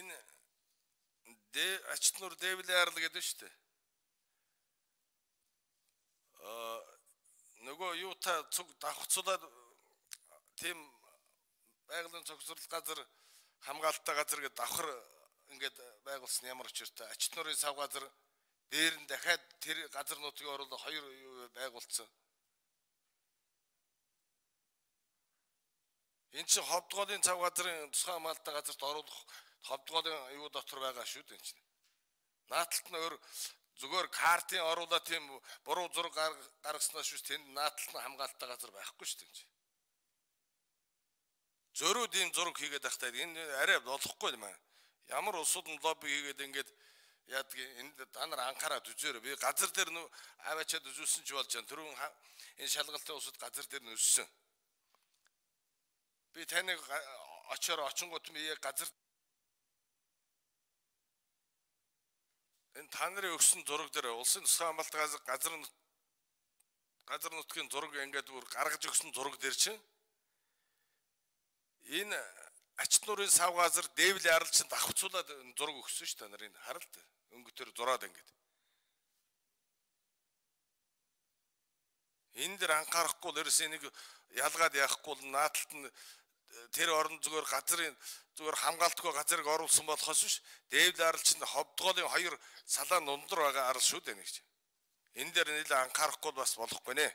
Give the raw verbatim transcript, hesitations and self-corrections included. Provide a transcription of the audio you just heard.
Энэ Ачтнуур Дэвлийн арал гэдэг шүү дээ. Аа нөгөө юу та цуг давхцуулаад тийм байгалийн цогцорлол газар хамгаалалттай газар гэдэг давхар ингээд байгуулсан ямар учиртай. Ачтнуурын сав газар дээр нь дахиад тэр газар нутгийн оруулах хоёр байгуулсан. Энэ чинь ховдгоолын цав газрын тусгай хамгаалалттай газарт оруулах ховдгоолын юу дотор байгаа шүү дээ чинь. Нааталт нь өөр зүгээр картын оруулаад тийм буруу зураг гаргаснаас шүү тэнд нааталт нь хамгаалалттай газар байхгүй шүү дээ. Зөрүүд ийм зураг хийгээд байхдаа энэ арай болохгүй юм аа. Ямар улсууд нь лобби хийгээд ингээд яадаг энд та нар анхаараад үзээрэй. Би газар дээр нөө аваачаад үзүүлсэн ч болж байна. Түрүүн энэ шалгалтын улсууд газар дээр нь өссөн. Би таныг очоор очингууд би яг газар энэ та нарын өгсөн зураг дээр улсын тусгай хамгаалалттай газар газар газар нутгийн зураг ингээд бүр гаргаж өгсөн зураг дээр чинь энэ Ачтнуурын сав газар Дэвлийн арал чинь давхцуулаад зураг өгсөн шүү та нарын харалт өнгөтөр зураад ингээд энэ дэр анхаарахгүй л ерөөс энийг ялгаад яахгүй л нааталт нь тэр орон зүгээр газрын зүгээр хамгаалтгүй газрыг оруулсан болохоос биш Дэвлийн арал чинь ховдгоолын хоёр салаан нундар байгаа арал шүү дээ нэг чинь энэ дээр нэлээд анхаарахгүй бас болохгүй нэ.